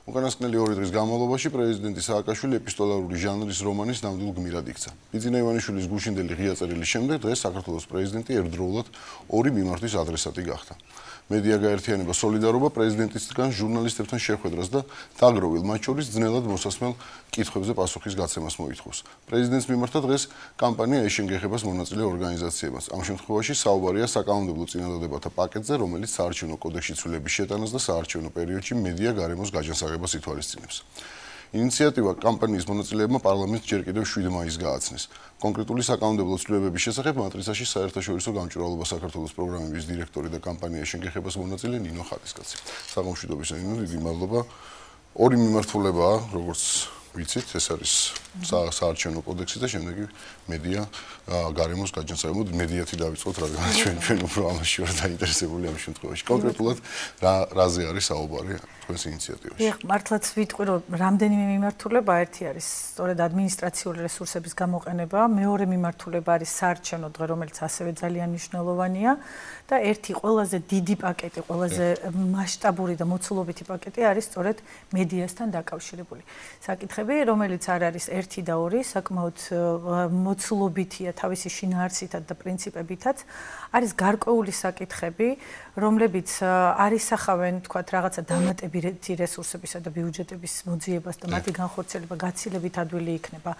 უკანასკნელი 2 დღის განმავლობაში პრეზიდენტი სააკაშვილი ეპისტოლარული ჟანრის რომანის ნამდვილ გმირად იქცა. ბიძინა ივანიშვილის გუშინდელი ღია წერილის შემდეგ დღეს საქართველოს პრეზიდენტი ერთდროულად 2 მიმართვის ადრესატი გახდა. მედია გაერთიანება სოლიდარობა პრეზიდენტისგან ჟურნალისტებთან შეხვედრას და დაგროვილ მათ შორის ძნელად მოსასმელ კითხვებზე პასუხის გაცემას მოითხოვს. პრეზიდენტს მიმართა დღეს კამპანია ეშენგეხებას მონაწილე ორგანიზაციებმაც. ამ შემთხვევაში საუბარია საკანონმდებლო წინადადებათა პაკეტზე, რომელიც საარჩევნო კოდექსში ცვლილების შეტანას და საარჩევნო პერიოდში მედია გარემოს გაჯანსაღებას ითვალისწინებს. ინიციატივა კამპანიის მონაწილეებმა პარლამენტს ჯერ კიდევ 7 მაისს გააცნეს. კონკრეტული საკანონმდებლო ცვლილებების შესახებ მატრიცაში საერთაშორისო გამჭვირვალობა საქართველოს პროგრამების დირექტორი და კამპანია ეშენგეხებას მონაწილე ნინო ხატისკაცი. საგამშვიდობისა ნინო, დიდი მადლობა. 2 მიმართულებაა, როგორც ვიცით, ეს არის საარჩევნო კოდექსი და შემდეგ მედია გარემოს გაჯანსაღება. მედიათი დავიწყოთ, რადგან ჩვენ უფრო ამაში ვარ დაინტერესებული ამ შემთხვევაში. კონკრეტულად რაზე არის საუბარი თქვენს ინიციატივაში? მართლაც ვიტყვი, რომ რამდენიმე მიმართულება, ერთი არის სწორედ ადმინისტრაციული რესურსების გამოყენება, მეორე მიმართულება არის საარჩევნო დღე, რომელიც ასევე ძალიან მნიშვნელოვანია და ერთი ყველაზე დიდი პაკეტი, ყველაზე მასშტაბური და მოცულობითი პაკეტი არის სწორედ მედიასთან დაკავშირებული საკითხები, რომელიც არ არის 1 და 2, საკმაოდ მოცულობითია თავისი შინაარსითაც და პრინციპებითაც. არის გარკვეული საკითხები, რომლებიც არისახავენ, თქვათ, რაღაცა დამატებითი რესურსებისა და ბიუჯეტების მოძიებას და მათი განხორციელება გაცილებით ადვილი იქნება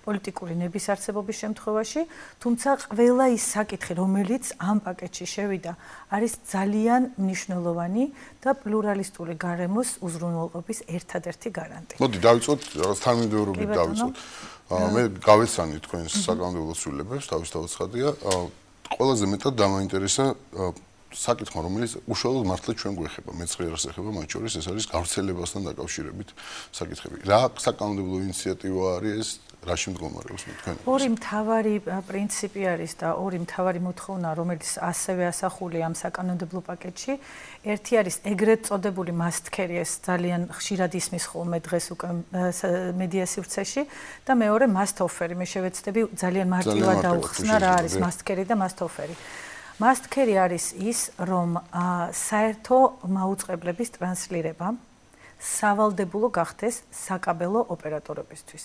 პოლიტიკური ნების არსებობის შემთხვევაში, თუმცა ყველა ის საკითხი, რომელიც ამ პაკეტში შევიდა, არის ძალიან მნიშვნელოვანი და პლურალისტური გარემოს უზრუნველყოფის ერთადერთი გარანტი. მოდი დავიწყოთ რაღაც თანმიმდევრობით დავიწყოთ. მე გავეცანი თქვენს საკანონმდებლო ცვლილებებს, თავისთავად ცხადია. ყველაზე მეტად დამაინტერესა საკითხმა, რომელიც უშუალოდ მართლა ჩვენ გვეხება, მეცხრიერას ეხება, მათ შორის ეს არის გავრცელებასთან დაკავშირებით საკითხები. რა საკანონმდებლო ინიციატივა არის ეს? რაში მდგომარეობს თქვენ? ორი მთავარი პრინციპი არის და ორი მთავარი მოთხოვნა, რომელიც ასევე ასახულია ამ საკანონმდებლო პაკეტში. ერთი არის ეგრეთ წოდებული მასტქერი, ეს ძალიან ხშირად ისმის ხოლმე დღეს უკვე მედია სივრცეში და მეორე მასტოფერი. მე შევეცდები ძალიან მარტივად დაუხსნა რა არის მასტქერი და მასტოფერი. მასტქერი არის ის, რომ საერთო მაუწყებლების ტრანსლირება სავალდებულო გახდეს საკაბელო ოპერატორებისთვის.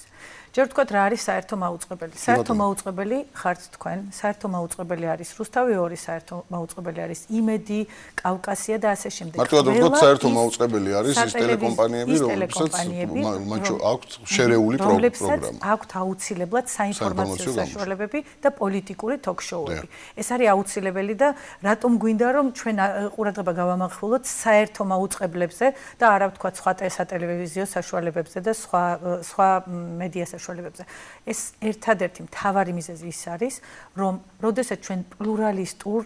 ჯერ ვთქვათ, რა არის საერთო მაუწყებელი? საერთო მაუწყებელი ხართ თქვენ, საერთო მაუწყებელი არის რუსთავი 2, საერთო მაუწყებელი არის იმედი, კავკასია და ასე შემდეგ. მარტივად ვთქვათ, საერთო მაუწყებელი არის ის ტელეკომპანიები, რომელსაც აქვთ შერეული პროგრამა. აქვთ აუცილებლად საინფორმაციო საშუალებები და პოლიტიკური ток-შოუები. ეს არის აუცილებელი და რატომ გვინდა რომ ჩვენ ყურადღება გავამახვილოთ საერთო მაუწყებლებზე და არა ვთქვათ სხვა სატელევიზიო საშუალებებზე და სხვა მედია საშუალებებზე. ეს ერთადერთი მთავარი მიზეზი ის არის, რომ როდესაც ჩვენ პლურალისტურ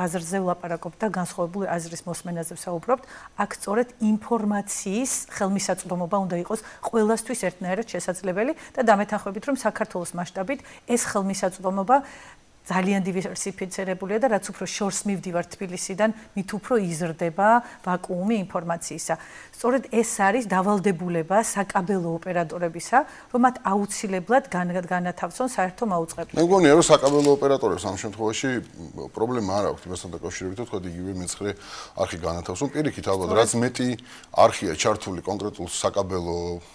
აზრზე ვლაპარაკობთ და განსხვავებული აზრის მოსმენაზე ვსაუბრობთ, აქ სწორედ ინფორმაციის ხელმისაწვდომობა უნდა იყოს ყველასთვის ერთნაირად შესაძლებელი და დამეთანხმებით, რომ საქართველოს მასშტაბით ეს ხელმისაწვდომობა ძალიან დივერსიფიცირებულია და რაც უფრო შორს მივდივარ თბილისიდან, მით უფრო იზრდება ვაკუუმი ინფორმაციისა. სწორედ ეს არის დავალდებულება საკაბელო ოპერატორებისა, რომ მათ აუცილებლად განათავსონ საერთო მაუწყებლობა. მე მგონია, რომ საკაბელო ოპერატორებს ამ შემთხვევაში პრობლემა არ აქვს იმასთან დაკავშირებით, თქვა იგივე მეცხრე არხი განათავსონ. პირიქით, ალბათ, რაც მეტი არხია ჩართული კონკრეტულ საკაბელო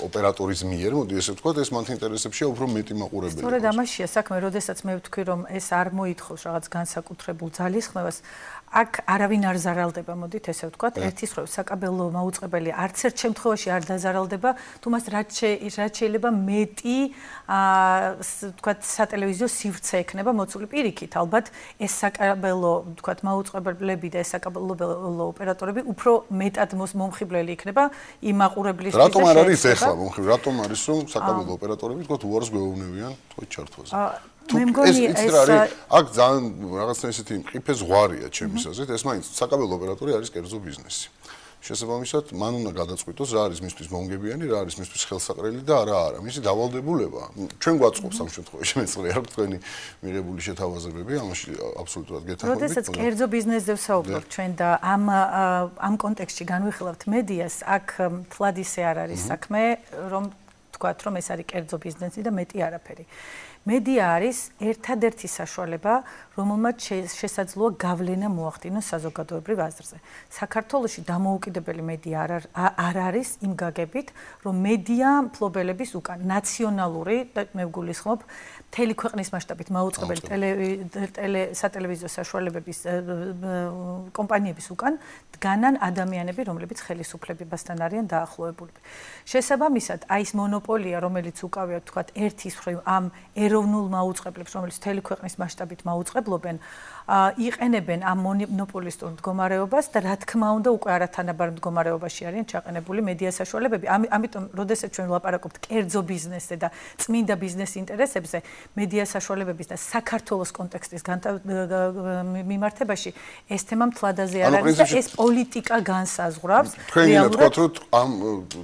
ოპერატორის მიერ, მოდი ესე ვთქვათ, ეს მათ ინტერესებშია უფრო მეტი მაყურებელი. სწორედ ამაშია საქმე, როდესაც მე ვთქვი, რომ ეს არ მოითხოვს რაღაც განსაკუთრებულ ძალისხმევას, აქ არავინ არ ზარალდება, მოდით ესე ვთქვათ, ერთის მხრივ საკაბელო მაუწყებელი არც ერთ შემთხვევაში არ დაზარალდება, თუმცა რაც შეიძლება მეტი ვთქვათ, სატელევიზიო სივრცე ექნება მოცული პირიქით, ალბათ ეს საკაბელო ვთქვათ, მაუწყებლები და ეს საკაბელო ოპერატორები უფრო მეტად მომხიბვლელი იქნება იმ მაყურებლისთვის. რატომ არ არის ეხლა მომხიბვლელი? რატომ არის რომ საკაბელო ოპერატორები ვთქვათ, უარს გვეუბნებიან თქვენ ჩართვაზე? მე მგონი ეს აქ ძალიან რაღაცა ესეთი მყიფე ზღვარია ჩემის აზრით, ეს მაინც საკაბელო ოპერატორი არის კერძო ბიზნესი. შესაბამისად, მან უნდა გადაწყვიტოს რა არის მისთვის მომგებიანი, რა არის მისთვის ხელსაყრელი და არა. მისი დავალდებულება, ჩვენ გვაწყობს ამ შემთხვევაში მეცხრე არ თქვენი მიღებული შეთავაზებები, ამაში აბსოლუტურად გეთანხმებით. როდესაც კერძო ბიზნესზე ვსაუბრობთ ჩვენ და ამ კონტექსტში განვიხილავთ მედიას, აქ მთლად ისე არ არის საქმე, რომ თქვათ, რომ ეს არის კერძო ბიზნესი და მეტი არაფერი. მედია არის ერთადერთი საშუალება, რომელმაც შესაძლოა გავლენა მოახდინოს საზოგადოებრივ აზრზე. საქართველოში დამოუკიდებელი მედია არ არის იმ გაგებით, რომ მედია მფლობელების უკან ნაციონალური და მე ვგულისხმობ მთელი ქვეყნის მასშტაბით მაუწყებელი სატელევიზიო საშუალებების კომპანიების უკან დგანან ადამიანები, რომლებიც ხელისუფლებასთან არიან დაახლოებულები. შესაბამისად, აი ეს მონოპოლია, რომელიც უკავია თქვათ ერთის მხრივ ამ ეროვნულ მაუწყებლებს, რომელიც მთელი ქვეყნის მასშტაბით მაუწყებლობენ, იყენებენ ამ მონოპოლისტურ მდგომარეობას და რა თქმა უნდა უკვე არათანაბარ მდგომარეობაში არიან ჩაყენებული მედია საშუალებები. ამიტომ, როდესაც ჩვენ ვლაპარაკობთ კერძო ბიზნესზე და წმინდა ბიზნეს ინტერესებზე, მედია საშუალებების და საქართველოს კონტექსტის მიმართებაში ეს თემა მთლადაზე არ არის და ეს პოლიტიკა განსაზღვრავს. თქვენ გინდათ რომ ამ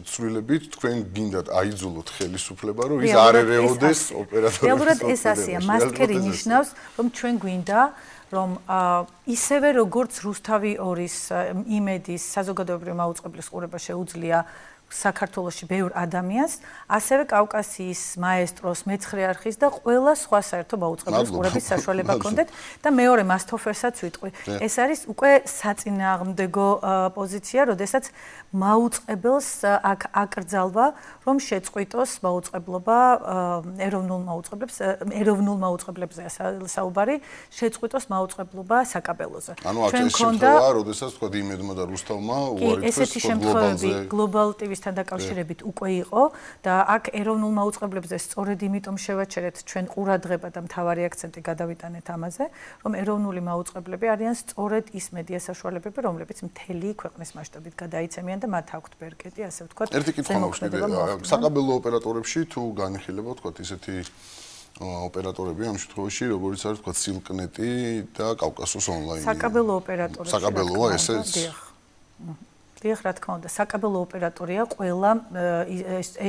ცვლილებით თქვენ გინდათ აიძულოთ ხელისუფლება, რომ ის არ ერეოდეს ოპერატორებს. რეალურად ეს ასეა. მასკერი ნიშნავს, რომ ჩვენ გვინდა რომ ისევე როგორც რუსთავი 2-ის იმედის საზოგადოებრივი მაუწყებლის ყურება შეუძლია საქართველოში ბევრ ადამიანს, ასევე კავკასიის მაესტროს, მეცხრე არხის და ყველა სხვა საერთო მაუწყებლის ყურების საშუალება ჰქონდეთ და მეორე მასთოფერსაც ვიტყვი. ეს არის უკვე საწინააღმდეგო პოზიცია, როდესაც მაუწყებელს აქ აკრძალვა, რომ შეწყვიტოს მაუწყებლობა ეროვნულ მაუწყებლებზეა საუბარი, შეწყვიტოს მაუწყებლობა საკაბელოზე. ანუ აქ ეს შემთხვევაა, როდესაც თქვა იმედმა და რუსთავმა უარი თქვეს ესეთი შემთხვევები Global TV-სთან დაკავშირებით უკვე იყო და აქ ეროვნულ მაუწყებლებზე სწორედ იმიტომ შევაჩერეთ ჩვენ ყურადღება და მთავარი აქცენტი გადავიტანეთ ამაზე, რომ ეროვნული მაუწყებლები არიან სწორედ ის მედია საშუალებები, რომლებიც მთელი ქვეყნის მასშტაბით გადაიცემიან და მათ აქვთ ბერკეტი, ასე ვთქვათ. ერთი კითხვა მაქვს კიდე, საკაბელო ოპერატორებში თუ განიხილება, ვთქვათ, ისეთი ოპერატორები ამ შემთხვევაში, როგორც არის ვთქვათ სილკნეტი და კავკასოს ონლაინი. საკაბელო ოპერატორები. საკაბელოა ესეც? დიახ, რა თქმა უნდა, საკაბელო ოპერატორია ყველა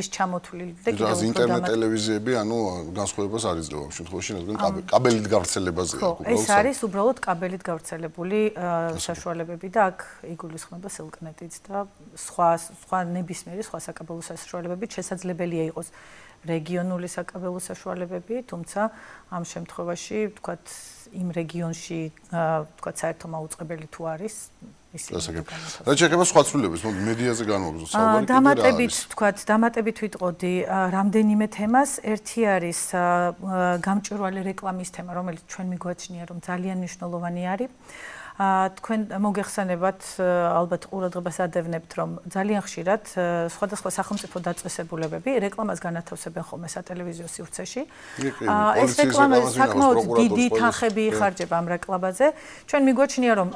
ეს ჩამოთვლილი და კიდევ უფრო ინტერნეტ ტელევიზიები, ანუ განსხვავებას არ იძლევა ამ შემთხვევაში, რადგან კაბელით გავრცელებაზეა უბრალოდ. ეს არის უბრალოდ კაბელით გავრცელებული საშუალებები და აქ იგულისხმება სილკნეტიც და სხვა ნებისმიერი სხვა საკაბელო საშუალებებით შესაძლებელია იყოს რეგიონული საკაბელო საშუალებები, თუმცა ამ შემთხვევაში, ვთქვათ, იმ რეგიონში, ვთქვათ, საერთო მაუწყებელი თუ არის რა შეიძლება სხვა ცვლილებებს, მედიაზე განვაგრძელოთ საუბარი. დამატებით ვიტყოდი რამდენიმე თემას. ერთი არის გამჭვირვალე რეკლამის თემა, რომელიც ჩვენ მიგვაჩნია, რომ ძალიან მნიშვნელოვანი არის. თქვენ მოგეხსენებათ, ალბათ ყურადღებას ადევნებთ, რომ ძალიან ხშირად სხვადასხვა სახელმწიფო დაწესებულებები რეკლამას განათავსებენ ხოლმე სატელევიზიო სივრცეში. ეს რეკლამა საკმაოდ დიდი თანხები იხარჯება ამ რეკლამაზე. ჩვენ მიგვაჩნია, რომ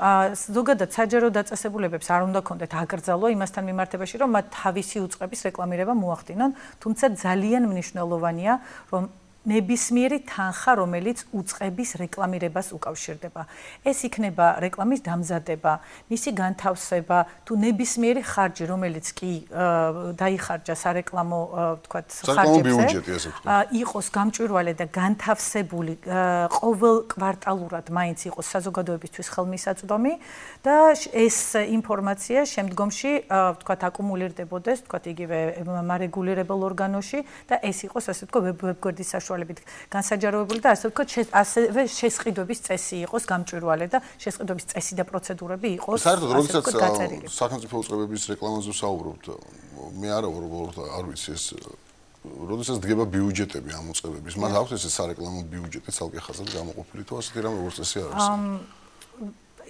ზოგადად საჯარო დაწესებულებებს არ უნდა ქონდეთ აკრძალვა იმასთან მიმართებაში, რომ მათ თავისი უწყების რეკლამირება მოახდინონ, თუმცა ძალიან მნიშვნელოვანია, რომ ნებისმიერი თანხა, რომელიც უწყების რეკლამირებას უკავშირდება. ეს იქნება რეკლამის დამზადება, მისი განთავსება, თუ ნებისმიერი ხარჯი, რომელიც კი დაიხარჯა სარეკლამო, ვთქვათ, ხარჯებზე, იყოს გამჭვირვალე და განთავსებული ყოველ კვარტალურად მაინც იყოს საზოგადოებისთვის ხელმისაწვდომი და ეს ინფორმაცია შემდგომში, ვთქვათ, აკუმულირდებოდეს, ვთქვათ, იგივე მარეგულირებელ ორგანოში და ეს იყოს, ასე ვთქვათ, ვებგვერდის განსაჯაროებული და ასე ვთქვათ, ასევე შესყიდვების წესი იყოს გამჭვირვალე და შესყიდვების წესი და პროცედურები იყოს. საერთოდ, როდესაც სახელმწიფო უწყებების რეკლამაზე ვსაუბრობთ, მე არ ვიცი ეს, როდესაც დგება ბიუჯეტები ამ უწყებების, მათ აქვს ეს სარეკლამო ბიუჯეტი ცალკე ხაზად გამოყოფილი თუ ასეთი რამ როგორც წესი არ არის.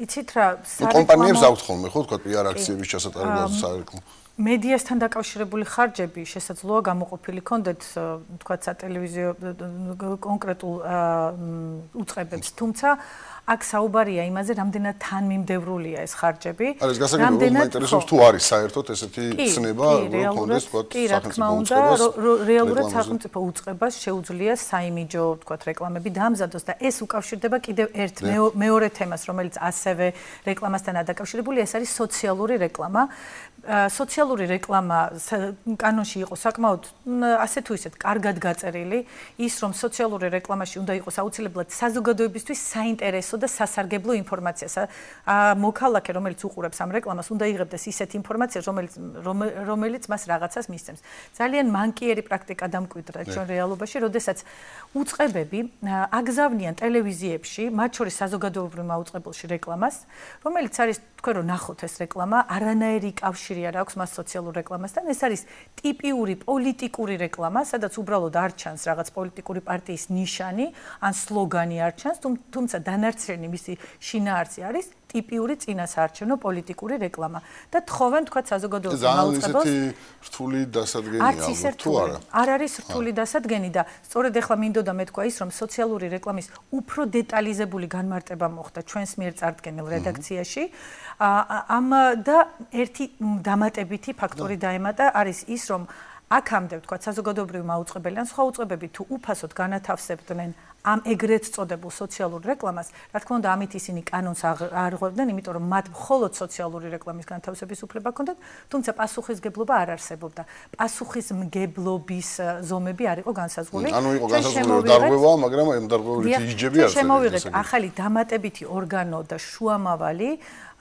იცით რა, კომპანიებს აქვთ ხოლმე, ხო, თქვა PR აქციების ჩასატარებლად სარეკლამო მედიასთან დაკავშირებული ხარჯები შესაძლოა გამოყოფილი ქონდეთ, თქვათ, სატელევიზიო კონკრეტულ უწყებებს, თუმცა აქ საუბარია იმაზე, რამდენად თანმიმდევრულია ეს ხარჯები. არის გასაგებია, მაინტერესებს თუ არის საერთოდ ესეთი ცნება, რომ ქონდეს, თქვათ, სახელმწიფო უწყებას. რეალურად სახელმწიფო უწყებას შეუძლია საიმიჯო, თქვათ, რეკლამები დამზადოს და ეს უკავშირდება კიდევ ერთ მეორე თემას, რომელიც ასევე რეკლამასთან დაკავშირებული, ეს არის სოციალური რეკლამა. სოციალური რეკლამა კანონში იყო საკმაოდ ასე თუ ისეთ კარგად გაწერილი, ის რომ სოციალური რეკლამაში უნდა იყოს აუცილებლად საზოგადოებისთვის საინტერესო და სასარგებლო ინფორმაცია. მოქალაქე, რომელიც უყურებს ამ რეკლამას, უნდა იღებდეს ისეთ ინფორმაციას, რომელიც მას რაღაცას მისცემს. ძალიან მანკიერი პრაქტიკა დამკვიდრა ჩვენ რეალობაში, როდესაც უწყებები აგზავნიან ტელევიზიებში, მათ შორის საზოგადოებრივ მაუწყებელში რეკლამას, რომელიც არის თქვენ რომ ნახოთ ეს რეკლამა, არანაირი კავშირი არ აქვს მას სოციალურ რეკლამასთან. ეს არის ტიპიური პოლიტიკური რეკლამა, სადაც უბრალოდ არ ჩანს რაღაც პოლიტიკური პარტიის ნიშანი ან სლოგანი არ ჩანს, თუმცა დანარჩენი მისი შინაარსი არის ტიპიური წინასაარჩევნო პოლიტიკური რეკლამა და თხოვენ თქვა საზოგადოებრივ მაუწყებელს. ესეთი რთული დასადგენია თუ არა? არ არის რთული დასადგენი და სწორედ ახლა მინდოდა მეთქვა ის რომ სოციალური რეკლამის უფრო დეტალიზებული განმარტება მოხდა ჩვენს მიერ წარდგენილ რედაქციაში. ამ და ერთი დამატებითი ფაქტორი დაემატა არის ის რომ აქამდე თქვა საზოგადოებრივი მაუწყებელი ან სხვა უწყებები თუ უფასოდ განათავსებდნენ ამ ეგრეთ წოდებულ სოციალურ რეკლამას, რა თქმა უნდა, ამით ისინი კანონს არ ღვევდნენ, იმიტომ რომ მათ მხოლოდ სოციალური რეკლამის განთავსების უფლება ჰქონდათ, თუმცა პასუხისგებლობა არ არსებობდა. პასუხისმგებლობის ზომები არ იყო განსაზღვრული. ანუ იყო განსაზღვრული დარღვევა, მაგრამ ამ დარღვევის იჯები არ შემოვიღეთ ახალი დამატებითი ორგანო და შუამავალი,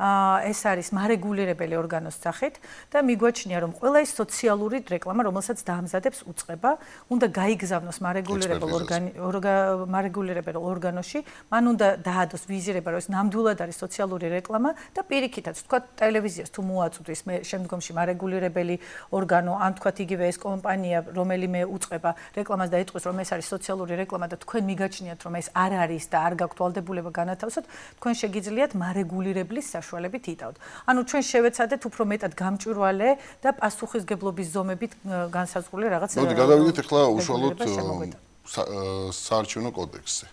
ეს არის მარეგულირებელი ორგანოს სახით და მიგვაჩნია რომ ყველა ის სოციალური რეკლამა, რომელსაც დაამზადებს უწყება, უნდა გაიგზავნოს მარეგულირებელ ორგანოში, მან უნდა დაადოს ვიზირება, რომ ეს ნამდვილად არის სოციალური რეკლამა და პირიქითაც, თქვა ტელევიზიას თუ მოაწვდის მე შემდგომში მარეგულირებელი ორგანო, ან თქვა იგივე ეს კომპანია, რომელიმე უწყება რეკლამას დაიწყოს, რომ ეს არის სოციალური რეკლამა და თქვენ მიგაჩნიათ, რომ ეს არ არის და არ გაქვთ ვალდებულება განათავსოთ, თქვენ შეგიძლიათ მარეგულირებლის საშუალებით იტავთ. ანუ ჩვენ შევეცადეთ უფრო მეტად გამჭვირვალე და პასუხისგებლობის ზომებით განსაზღვრული რაღაც. მოდი გადავიდეთ ახლა უშუალოდ საარჩევნო კოდექსზე.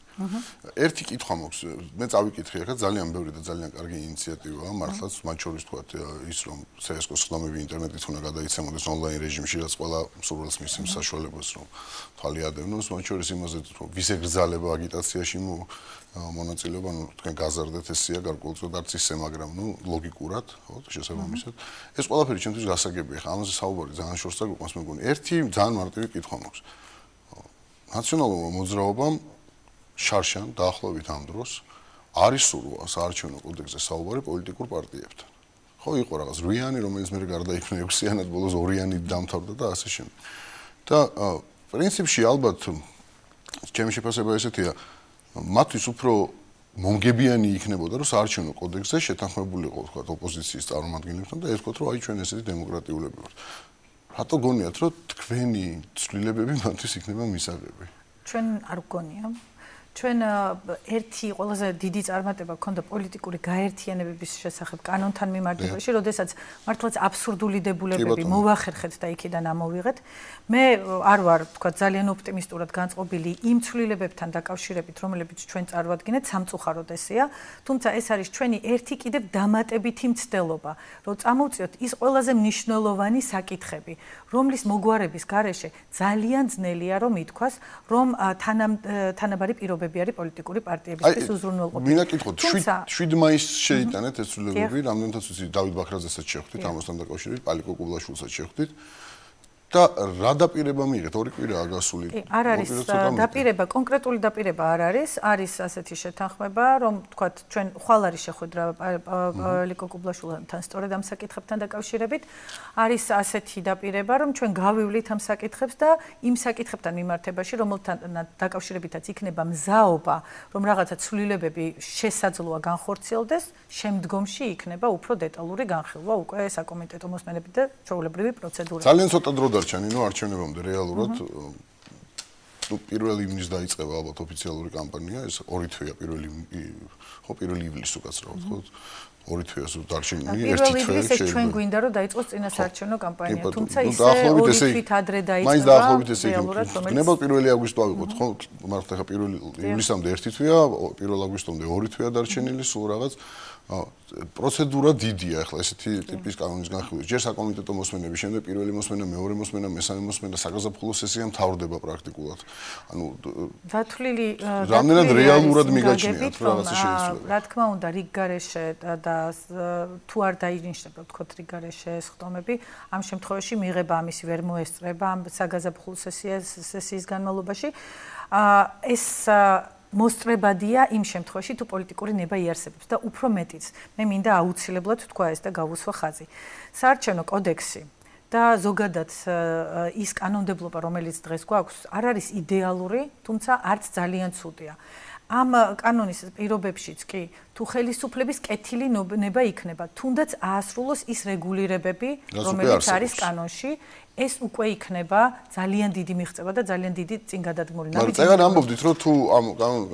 ერთი კითხვა მაქვს, მე წავიკითხე ახლა ძალიან ბევრი და ძალიან კარგი ინიციატივაა, მართლაც, მათ შორის თქვა ის რომ CSGO-ს ხდომები ინტერნეტით უნდა გადაიცემოდეს ონლაინ რეჟიმში, რაც ყველა მსურველს მისცემს საშუალებას, რომ თვალი ადევნოს, მათ შორის იმაზე, რომ ვის ეგრძალება აგიტაციაში მონაწილეობა, ნუ თქვენ გაზარდეთ ესია გარკვეულწილად არც ისე, მაგრამ ნუ ლოგიკურად, ხო, შესაბამისად. ეს ყველაფერი ჩემთვის გასაგებია, ხა ამაზე საუბარი ძალიან შორს დაგვიყვანს მეგონი. ერთი ძალიან მარტივი კითხვა მაქვს. ნაციონალურმა მოძრაობამ შარშან დაახლოებით ამ დროს არის სურვა საარჩევნო კოდექსზე საუბარი პოლიტიკურ პარტიებთან. ხო, იყო რაღაც რვიანი, რომელიც მე გარდაიქმნა 6-იანად, ბოლოს 2-იანით დამთავრდა და ასე შემდეგ. და პრინციპში ალბათ ჩემი შეფასება ესეთია, მათთვის უფრო მომგებიანი იქნებოდა, რომ საარჩევნო კოდექსზე შეთანხმებულიყო, თქვა, ოპოზიციის წარმომადგენლებთან და ეთქვათ, რომ აი ჩვენ ესეთი დემოკრატიულები ვართ. რატო გონიათ, რომ თქვენი ცვლილებები მათთვის იქნება მისაღები? ჩვენ არ გგონია. ჩვენ ერთი ყველაზე დიდი წარმატება ჰქონდა პოლიტიკური გაერთიანებების შესახებ კანონთან მიმართებაში, როდესაც მართლაც აბსურდული დებულებები მოვახერხეთ და იქიდან ამოვიღეთ. მე არ ვარ, თქვა, ძალიან ოპტიმისტურად განწყობილი იმ ცვლილებებთან დაკავშირებით, რომლებიც ჩვენ წარვადგინეთ, სამწუხაროდ ესეა, თუმცა ეს არის ჩვენი ერთი კიდევ დამატებითი მცდელობა, რომ წამოვწიოთ ის ყველაზე მნიშვნელოვანი საკითხები, რომლის მოგვარების გარეშე ძალიან ძნელია რომ ითქვას, რომ თანაბარი პირობები არის პოლიტიკური პარტიებისთვის უზრუნველყოფილი. მინდა კითხოთ, 7 მაისს შეიტანეთ ეს ცვლილებები, რამდენადაც ვიცი, დავით ბაქრაძესაც შეხვდით, ამასთან დაკავშირებით, პალიკო კუბლაშვილსაც შეხვდით. და რა დაპირება მიიღეთ? 2 კვირაა გასული. არ არის დაპირება, კონკრეტული დაპირება არ არის, არის ასეთი შეთანხმება, რომ თქვათ, ჩვენ ხვალ არის შეხვედრა პალიკო კუბლაშვილთან სწორედ ამ საკითხებთან დაკავშირებით, არის ასეთი დაპირება, რომ ჩვენ გავივლით ამ საკითხებს და იმ საკითხებთან მიმართებაში, რომელთან დაკავშირებითაც იქნება მზაობა, რომ რაღაცა ცვლილებები შესაძლოა განხორციელდეს, შემდგომში იქნება უფრო დეტალური განხილვა უკვე საკომიტეტო მოსმენებით და ჩვეულებრივი პროცედურები. ძალიან ცოტა დრო არჩენინო არჩევნებამდე რეალურად ნუ 1 ივნის დაიწყება ალბათ ოფიციალური კამპანია, ეს 2 თვეა 1 ივლისს უკაცრავად, ხო? 2 თვეას დარჩენილი, 1 თვე შეიძლება ჩვენ გვინდა რომ დაიწყოს წინასაარჩევნო კამპანია, თუმცა ისე 2 თვით ადრე დაიწყება. მაინც დაახლოებით ესე იქნება. ნება 1 აგვისტო ავიღოთ, ხო? მართლა ხა 1 ივლისამდე 1 თვეა, 1 აგვისტომდე 2 თვეა დარჩენილი, სულ რაღაც პროცედურა დიდია ახლა ესეთი ტიპის კანონის განხილვის. ჯერ საკომიტეტო მოსმენები, შემდეგ პირველი მოსმენა, მეორე მოსმენა, მესამე მოსმენა, საგაზაფხულო სესია მთავრდება პრაქტიკულად. ანუ დათვლილი რამდენად რეალურად მიგაჩნიათ რაღაცა შეიცვლება. რა თქმა უნდა, რიგ გარეშე და თუ არ დაინიშნება თქოთ რიგარეშე სხდომები, ამ შემთხვევაში მიღება ამისი ვერ მოესწრება ამ საგაზაფხულო სესიის განმავლობაში. ეს მოსწრებადია იმ შემთხვევაში თუ პოლიტიკური ნება იარსებებს და უფრო მეტიც მე მინდა აუცილებლად თქვა ეს და გავუსვა ხაზი. საარჩევნო კოდექსი და ზოგადად ის კანონმდებლობა, რომელიც დღეს გვაქვს, არ არის იდეალური, თუმცა არც ძალიან ცუდია. ამ კანონის პირობებშიც კი თუ ხელისუფლების კეთილი ნება იქნება, თუნდაც აასრულოს ის რეგულირებები, რომელიც არის კანონში, ეს უკვე იქნება ძალიან დიდი მიღწევა და ძალიან დიდი წინგადადგმული. მაგრამ წეგან ამბობდით, რომ თუ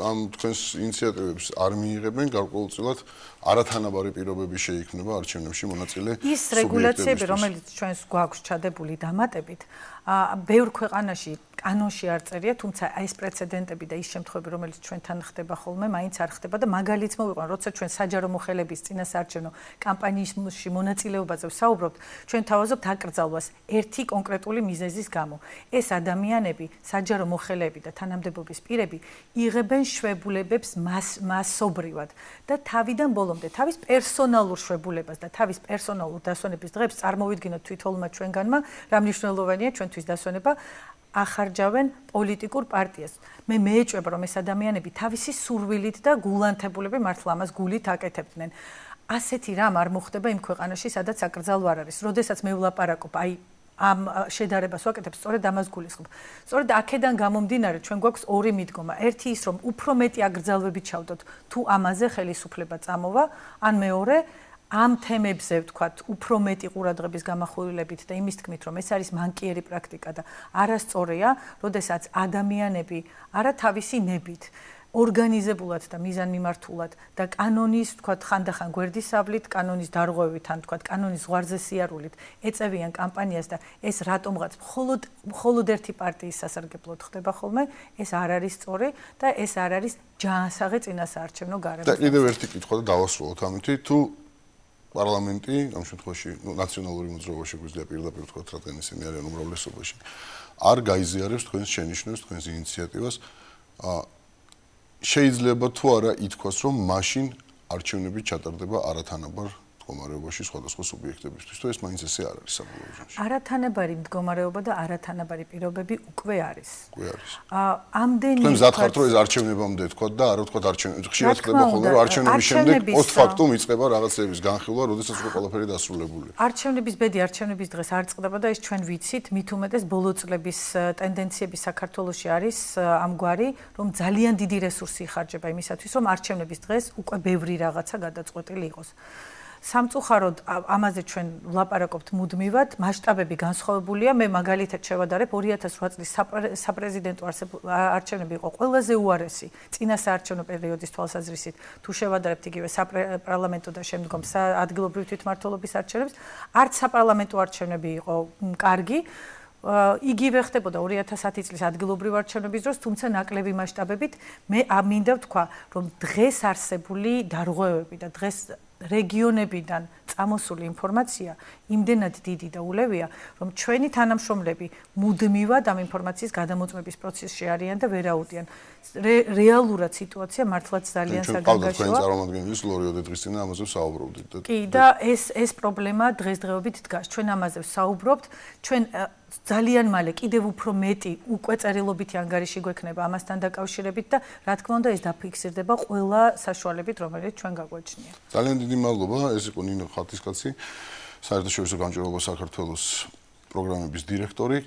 ამ თქვენს ინიციატივებს არ მიიღებენ, გარკვეულწილად არათანაბარი პირობები შეიქმნება არჩევნებში მონაწილე სუბიექტებისთვის. ის რეგულაციები, რომელიც ჩვენს გვაქვს ჩადებული დამატებით, ბევრ ქვეყანაში კანონში არ წერია, თუმცა ეს პრეცედენტები და ის შემთხვევები, რომელიც ჩვენთან ხდება ხოლმე, მაინც არ ხდება და მაგალითს მოვიყვან, როცა ჩვენ საჯარო მოხელების წინასაარჩევნო კამპანიაში მონაწილეობაზე ვსაუბრობთ, ჩვენ თავაზობთ აკრძალვას ერთი კონკრეტული მიზეზის გამო. ეს ადამიანები, საჯარო მოხელეები და თანამდებობის პირები იღებენ შვებულებებს მასობრივად და თავიდან ბოლომდე თავის პერსონალურ შვებულებას და თავის პერსონალურ დასვენების დღეებს წარმოვიდგინოთ თვითონმა ჩვენგანმა, რა მნიშვნელოვანია ჩვენთვის დასვენება ახარჯავენ პოლიტიკურ პარტიას. მე მეეჭვება, რომ ეს ადამიანები თავისი სურვილით და გულანთებულებით მართლა ამას გულით აკეთებდნენ. ასეთი რამ არ მოხდება იმ ქვეყანაში, სადაც აკრძალვა არ არის. როდესაც მე ვლაპარაკობ, ამ შედარებას ვაკეთებ, სწორედ ამას გულისხმობ. სწორედ აქედან გამომდინარე, ჩვენ გვაქვს ორი მიდგომა. ერთი ის, რომ უფრო მეტი აკრძალვები ჩავდოთ, თუ ამაზე ხელისუფლება წამოვა, ან მეორე ამ თემებზე ვთქვათ, უფრო მეტი ყურადღების გამახვილებით და იმის თქმით, რომ ეს არის მანკიერი პრაქტიკა და არასწორია, როდესაც ადამიანები არა თავისი ნებით ორგანიზებულად და მიზანმიმართულად და კანონის, ვთქვათ, ხანდახან გვერდისავლით, კანონის დარღვევით, ან ვთქვათ, კანონის ზღვარზე სიარულით ეწევიან კამპანიას და ეს რატომღაც მხოლოდ ერთი პარტიის სასარგებლოდ ხდება ხოლმე, ეს არ არის სწორი და ეს არ არის ჯანსაღი წინასაარჩევნო გარემო. და კიდევ ერთი კითხვა და დავასრულოთ ამით, თუ პარლამენტი, ამ შემთხვევაში, ნაციონალური მოძრაობა შეგვიძლია პირდაპირ ვთქვათ, რადგან ისინი არიან უმრავლესობაში, არ გაიზიარებს თქვენს შენიშვნებს, თქვენს ინიციატივას, შეიძლება თუ არა ითქვას, რომ მაშინ არჩევნები ჩატარდება არათანაბარ მდგომარეობაში სხვადასხვა სუბიექტებისთვის, თუ ეს მაინც ესე არ არის საბოლოო ჯამში. არათანაბარი მდგომარეობა და არათანაბარი პირობები უკვე არის. უკვე არის. ამდენი თქვენ მზად ხართ, რომ ეს არჩევნებამდე თქვათ და არა თქვათ არჩევნები. ხშირად ხდება ხოლმე, რომ არჩევნების შემდეგ პოსტფაქტუმ იწყება რაღაცების განხილვა, როდესაც უკვე ყველაფერი დასრულებულია. არჩევნების ბედი არჩევნების დღეს არ წყდება და ეს ჩვენ ვიცით, მით უმეტეს ბოლო წლების ტენდენციები საქართველოში არის ამგვარი, რომ ძალიან დიდი რესურსი იხარჯება იმისათვის, რომ არჩევნების დღეს უკვე ბევრი რაღაცა გადაწყვეტილი იყოს. სამწუხაროდ ამაზე ჩვენ ვლაპარაკობთ მუდმივად, მასშტაბები განსხვავებულია. მე მაგალითად შევადარებ 2008 წლის საპრეზიდენტო არჩევნები იყო ყველაზე უარესი წინასაარჩევნო პერიოდის თვალსაზრისით. თუ შევადარებთ იგივე საპარლამენტო და შემდგომ ადგილობრივი თვითმმართველობის არჩევნებს, არც საპარლამენტო არჩევნები იყო კარგი. იგივე ხდებოდა 2010 წლის ადგილობრივი არჩევნების დროს, თუმცა ნაკლები მასშტაბებით. მე მინდა ვთქვა, რომ დღეს არსებული დარღვევები და დღეს რეგიონებიდან წამოსული ინფორმაცია იმდენად დიდი და ულევია, რომ ჩვენი თანამშრომლები მუდმივად ამ ინფორმაციის გადამოწმების პროცესში არიან და ვერ აუდიან. რეალურად სიტუაცია მართლაც ძალიან საგანგაშოა. თქვენ წარმომადგენლის ლორიოდე დღის წინ ამაზე ვსაუბრობდით. კი, და ეს პრობლემა დღესდღეობით დგას. ჩვენ ამაზე ვსაუბრობთ, ჩვენ ძალიან მალე კიდევ უფრო მეტი უკვე წერილობითი ანგარიში გვექნება ამასთან დაკავშირებით და რა თქმა უნდა ეს დაფიქსირდება ყველა საშუალებით, რომელიც ჩვენ გაგვაჩნია. ძალიან დიდი მადლობა, ეს იყო ნინო ხათისკაცი, საერთაშორისო გამჭვირვალობა საქართველოს პროგრამების დირექტორი.